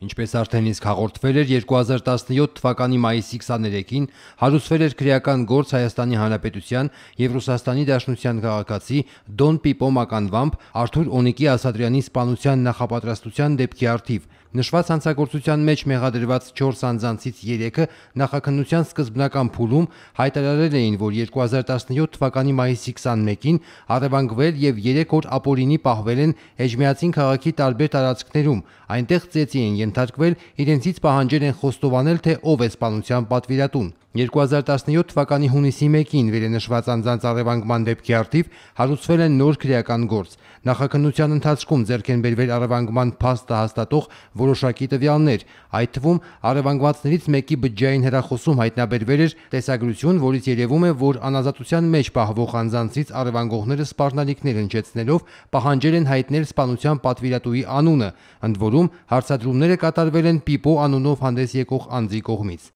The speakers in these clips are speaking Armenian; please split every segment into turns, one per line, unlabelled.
Ինչպես արդեն իսկ հաղորդվել էր 2017 թվականի մայիսի 23-ին հարուցվել էր քրեական գործ Հայաստանի Հանրապետության եւ Ռուսաստանի Դաշնության քաղաքացի Դոն Պիպո մականվամբ Արթուր Օնիկի Ասատրյանի սպանության նախապատրաստության դեպքի առթիվ։ Նշված հանցագործության մեջ մեղադրված 4 անձանցից 3-ը նախաքննության սկզբնական փուլում հայտարարել էին, որ 2017 թվականի մայիսի 21-ին առևանգվել եւ 3 օր ապօրինի պահվել են Էջմիածին քաղաքի տարբեր տարածքներում, այնտեղ ծեծի են ենթարկվել, իրենցից պահանջել են խոստովանել, թե ով է սպանության պատվիրատուն։ 2017 թվականի հունիսի 1-ին վերենշված անձանց առևանգման դեպքի առթիվ հարուցվել է նոր քրեական գործ։ Նախաքննության ընթացքում ձեռք են բերվել առևանգման փաստը հաստատող որոշակի տվյալներ, այդ թվում առևանգվածներից մեկի բջջային հեռախոսում հայտնաբերվել էր տեսագրություն, որից երևում է, որ անազատության մեջ պահվող անձանցից առևանգողները սպառնալիքներ հնչեցնելով պահանջել են հայտնել սպանության պատվիրատուի անունը, ընդ որում հարցադրումները կատարվել են Պիպո անունով հանդես եկող անձի կողմից։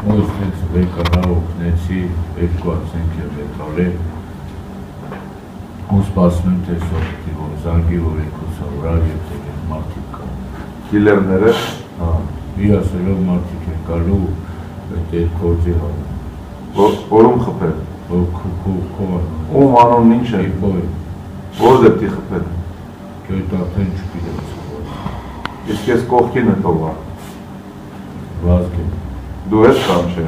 Ոստից վեկանա օգնեցի 2 մետալի ու սպասում եմ տեսողի, որ զանգի որ եկուսա վրա և տեղ մարդիկ կա։
Դիլերները։
Մի ասելով մարդիկ են կալու այդ գործի հանում։
Որում խպել։ Ում անունն ինչ է։ Որ դեպքի խպել։
Կյոյտ արդեն չպիտեմ։
Իսկ ես կողքին է տողա։
Վազգ եմ։
Դու ես կամ չէ։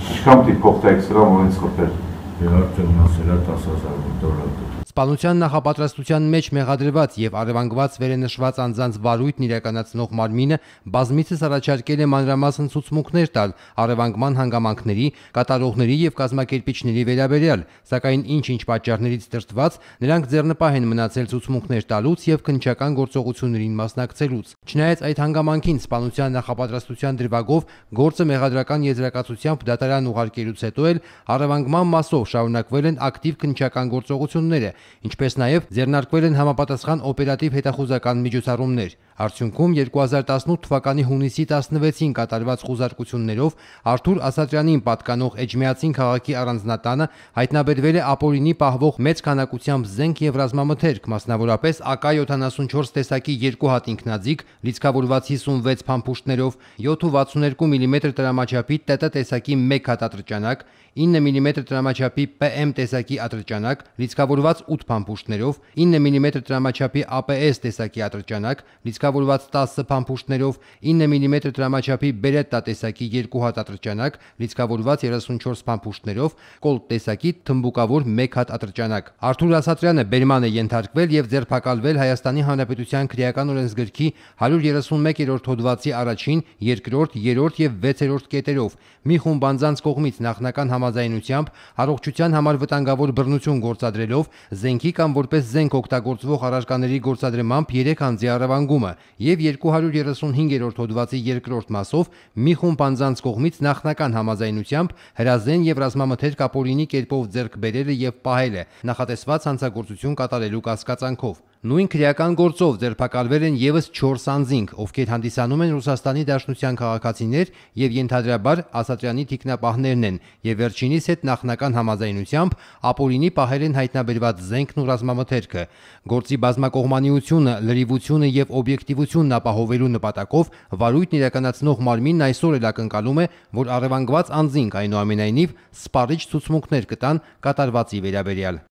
Ինչքան պիտի փոխտայք սրա, որ ինձ խպել։
Արդեն մասելա 10,000 դոլար։
Սպանության նախապատրաստության մեջ մեղադրված եւ առևանգված վերենշված անձանց վարույթն իրականացնող մարմինը բազմիցս առաջարկել է մանրամասն ցուցմունքներ տալ առևանգման հանգամանքների, կատարողների եւ կազմակերպիչների վերաբերյալ, սակայն ինչ-ինչ պատճառներից դրդված նրանք ձեռնպահ են մնացել ցուցմունքներ տալուց եւ քննչական գործողություններին մասնակցելուց։ Չնայած այդ հանգամանքին սպանության նախապատրաստության դրվագով գործը մեղադրական եզրակացությամբ դատարան ուղարկելուց հետո էլ առևանգման մասով շարունակվել են ակտիվ քննչական գործողությունները, ինչպես նաև ձեռնարկվել են համապատասխան օպերատիվ հետախուզական միջոցառումներ։ Արդյունքում 2018 թվականի հունիսի 16-ին կատարված խուզարկություններով Արթուր Ասատրյանին պատկանող Էջմիածին քաղաքի առանձնատանը հայտնաբերվել է ապօրինի պահվող մեծ քանակությամբ զենք եւ ռազմամթերք, մասնավորապես AK-74 տեսակի 2 հատ ինքնաձիգ, լիցքավորված 56 փամփուշտներով, 7.62 մմ տրամաչափի ՏՏ տեսակի 1 հատ ատրճանակ, 9 մմ տրամաչափի PM տեսակի ատրճանակ, լիցքավորված 8 փամփուշտներով, 9 մմ տրամաչափի APS տեսակի ատրճանակ, լիցքավորված 10 փամփուշտներով, 9 մմ տրամաչափի Beretta տեսակի 2 հատ ատրճանակ, լիցքավորված 34 փամփուշտներով, Colt տեսակի թմբուկավոր 1 հատ ատրճանակ։ Արթուր Ասատրյանը բերման է ենթարկվել եւ ձերբակալվել Հայաստանի Հանրապետության քրեական օրենսգրքի 131-րդ հոդվածի առաջին, երկրորդ, երրորդ եւ 6-րդ կետերով։ Մի խումբ անձանց կողմից նախնական համաձայնությամբ առողջության համար վտանգավոր բռնություն գործադրելով զենքի կամ որպես զենք օգտագործվող առարկաների գործադրմամբ 3 անձի առևանգումը եւ 235-րդ հոդվածի երկրորդ մասով մի խումբ անձանց կողմից նախնական համաձայնությամբ հրազեն եւ ռազմամթերք ապօրինի կերպով ձեռք բերելը եւ պահելը նախատեսված հանցագործություն կատարելու կասկածանքով։ Նույն քրեական գործով ձերբակալվել են եւս 4 անձինք, ովքեր հանդիսանում են Ռուսաստանի Դաշնության քաղաքացիներ եւ ենթադրաբար Ասատրյանի թիկնապահներն են եւ վերջինիս հետ նախնական համաձայնությամբ ապօրինի պահել են հայտնաբերված զենքն ու ռազմամթերքը։ Գործի բազմակողմանիությունը, լրիվությունը եւ օբյեկտիվությունն ապահովելու նպատակով վարույթն իրականացնող մարմինն այսօր էլ ակնկալում է, որ առևանգված անձինք այնուամենայնիվ սպառիչ ցուցմունքներ կտան կատարվածի վերաբերյալ։